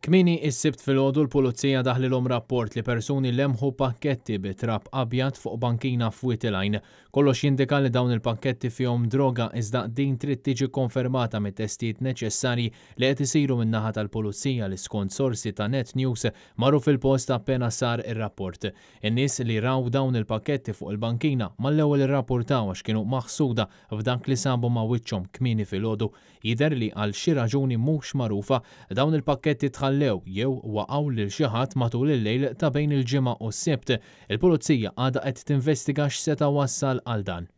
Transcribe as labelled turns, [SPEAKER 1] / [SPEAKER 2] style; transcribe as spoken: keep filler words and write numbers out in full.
[SPEAKER 1] Kmieni is-Sibt filgħodu l-Pulizija daħlilhom rapport li persuni lemħu pakketti bi trab abjad fuq bankina f'Wied il-Għajn. Kollox jindika li dawn il-pakketti fihom droga, iżda din trid tiġi konfermata mit-testijiet neċessarji li qed isiru min-naħa tal-Pulizija li, skont sorsi ta' Net News, marru fil-post appena sar ir-rapport. In-nies li raw dawn il-pakketti fuq il-bankina mal-ewwel irrapportaw għax kienu maħsuda f'dak li sabu ma' wiċċhom kmieni filgħodu. Jidher li għal xi raġuni mhux magħrufa dawn il-pakketti tħallew jew waqgħu lil xi ħadd matul il-lejl ta' bejn il-Ġimgħa u s-Sibt. Il-Pulizija għadha qed tinvestiga x'seta' wassal għal dan.